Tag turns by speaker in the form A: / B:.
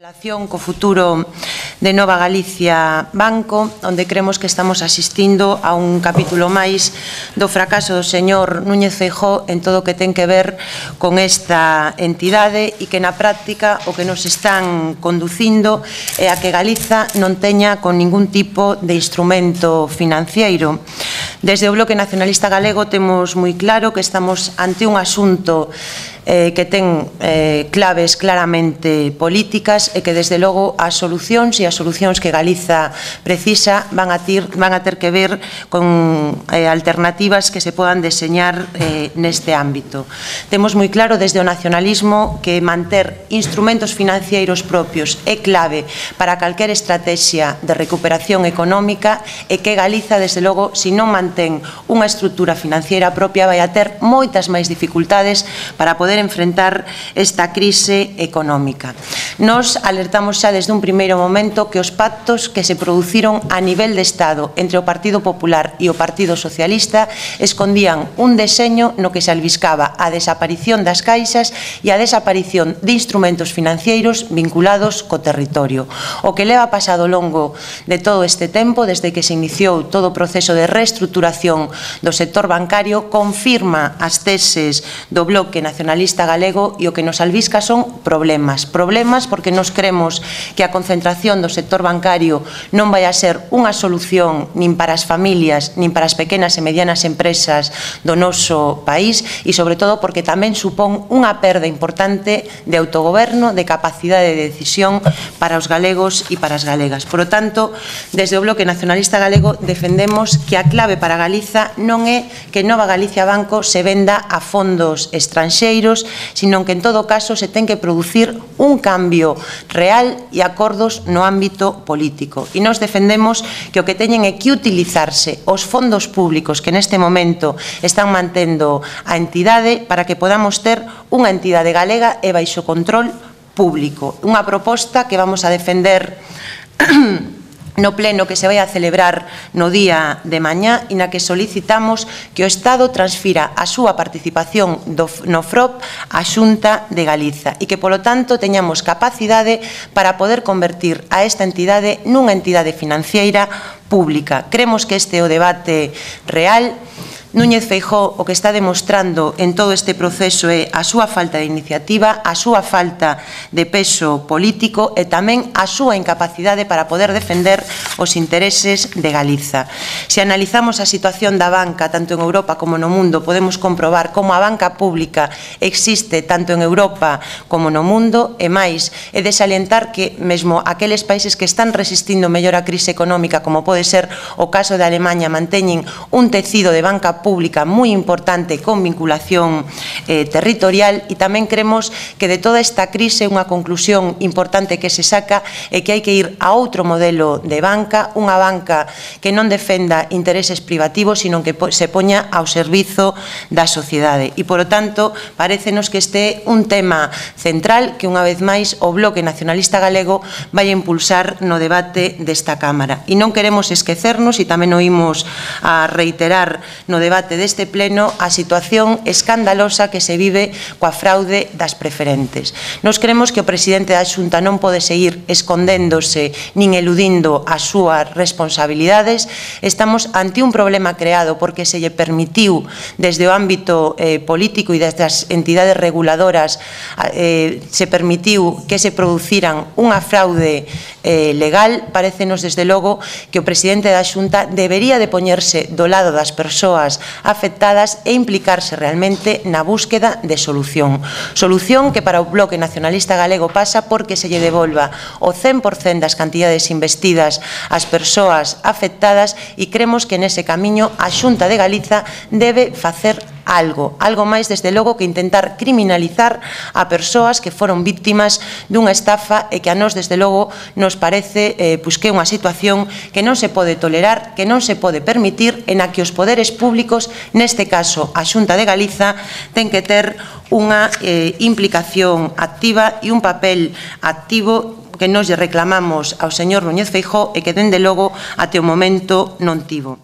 A: Relación co futuro de Nova Galicia Banco, onde cremos que estamos asistindo a un capítulo máis do fracaso do señor Núñez Feijóo en todo o que ten que ver con esta entidade e que na práctica o que nos están conducindo é a que Galiza non teña con ningún tipo de instrumento financiero. Desde o Bloque Nacionalista Galego temos moi claro que estamos ante un asunto que ten claves claramente políticas e que desde logo as solucións que Galiza precisa van a ter que ver con alternativas que se podan deseñar neste ámbito. Temos moi claro desde o nacionalismo que manter instrumentos financeiros propios é clave para calquer estrategia de recuperación económica e que Galiza desde logo, se non mantén unha estrutura financiera propia, vai a ter moitas máis dificultades para poder enfrentar esta crise económica. Nos alertamos xa desde un primeiro momento que os pactos que se produciron a nivel de Estado entre o Partido Popular e o Partido Socialista escondían un deseño no que se albiscaba a desaparición das caixas e a desaparición de instrumentos financeiros vinculados co territorio. O que leva pasado ao longo de todo este tempo, desde que se iniciou todo o proceso de reestruturación do sector bancario, confirma as teses do Bloque Nacionalista Galego e o que nos albisca son problemas porque nos cremos que a concentración do sector bancario non vai a ser unha solución nin para as familias nin para as pequenas e medianas empresas do noso país e sobre todo porque tamén supón unha perda importante de autogoberno, de capacidade de decisión para os galegos e para as galegas. Por lo tanto, desde o Bloque Nacionalista Galego defendemos que a clave para Galiza non é que Nova Galicia Banco se venda a fondos estranxeiros, sino que en todo caso se ten que producir un cambio real e acordos no ámbito político. E nos defendemos que o que teñen é que utilizarse os fondos públicos que neste momento están mantendo a entidade para que podamos ter unha entidade galega e baixo control público. Unha proposta que vamos a defender no pleno que se vai a celebrar no día de mañá e na que solicitamos que o Estado transfira a súa participación no FROP á Xunta de Galiza e que, polo tanto, teñamos capacidade para poder convertir a esta entidade nunha entidade financeira pública. Cremos que este é o debate real. Núñez Feijóo o que está demostrando en todo este proceso é a súa falta de iniciativa, a súa falta de peso político e tamén a súa incapacidade para poder defender os intereses de Galiza. Se analizamos a situación da banca tanto en Europa como no mundo, podemos comprobar como a banca pública existe tanto en Europa como no mundo e máis, é de salientar que mesmo aqueles países que están resistindo mellor a crise económica, como pode ser o caso de Alemanha, manteñen un tecido de banca pública moi importante con vinculación territorial e tamén creemos que de toda esta crise unha conclusión importante que se saca é que hai que ir a outro modelo de banca, unha banca que non defenda intereses privativos, sino que se poña ao servizo da sociedade. E, polo tanto, parécenos que este é un tema central que, unha vez máis, o Bloque Nacionalista Galego vai a impulsar no debate desta Cámara. E non queremos esquecernos, e tamén oímos a reiterar no debate deste pleno, a situación escandalosa que se vive coa fraude das preferentes. Nos creemos que o presidente da Xunta non pode seguir escondéndose nin eludindo as súas responsabilidades. Estamos ante un problema creado porque se lle permitiu desde o ámbito político e desde as entidades reguladoras se permitiu que se produciran unha fraude legal. Parécenos desde logo que o presidente da Xunta debería de poñerse do lado das persoas afectadas e implicarse realmente na búsqueda de solución. Solución que para o Bloque Nacionalista Galego pasa porque se lle devolva o 100% das cantidades investidas ás persoas afectadas e cremos que nese camiño a Xunta de Galiza debe facer algo máis desde logo que intentar criminalizar a persoas que foron víctimas dunha estafa e que a nós desde logo nos parece que é unha situación que non se pode tolerar, que non se pode permitir, en a que os poderes públicos, neste caso a Xunta de Galiza, ten que ter unha implicación activa e un papel activo que nos lle reclamamos ao señor Núñez Feijóo e que dende logo até o momento non tivo.